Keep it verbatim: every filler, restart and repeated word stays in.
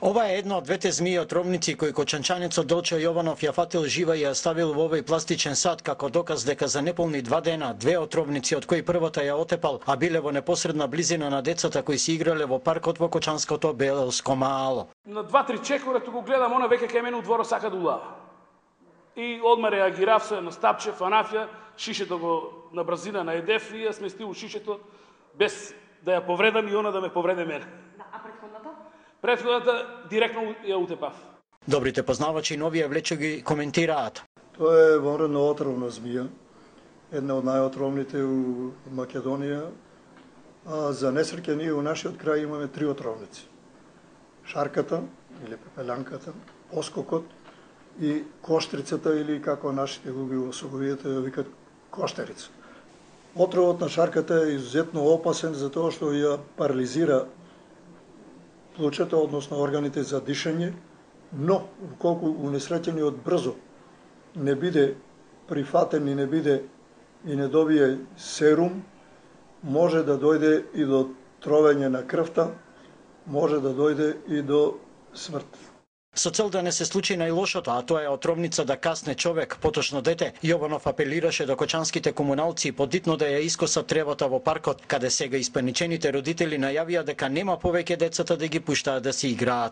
Ова е една од двете змии отровници кои кочанчанецот Делчо Јованов ја фатил жива и ја ставил во овој пластичен сад како доказ дека за неполни два дена две отровници од кои првата ја отепал, а биле во непосредна близина на децата кои си играле во паркот во кочанското Белско мало. На два-три чекора туку гледам, она веќе кај мене у дворот сака да улава. И одма реагирав се, настапче, фанафја, шишето го на бразина на едев и ја сместил шишето без да ја повредам и она да ме повреде мене. Да, а претходната? Претходната директно ја утепав. Добрите познавачи на овие влечи ги коментираат. Тоа е вонредно отровна змија, една од најотровните у Македонија. А за несреќа ние у нашиот крај имаме три отровници. Шарката или пепелянката, поскокот и коштрицата или како нашите го ги особовијата ја викат коштерица. Отровот на шарката е изузетно опасен затоа што ја парализира плучето, односно органите за дишење, но колку унесреќениот брзо не биде прифатен и не биде и не добие серум, може да дојде и до тровење на крвта, може да дојде и до смрт. Со цел да не се случи најлошото, а тоа е отровница да касне човек, поточно дете, Јованов апелираше до кочанските комуналци подитно да ја искосат тревата во паркот, каде сега испаничените родители најавија дека нема повеќе децата да ги пуштаат да се играат.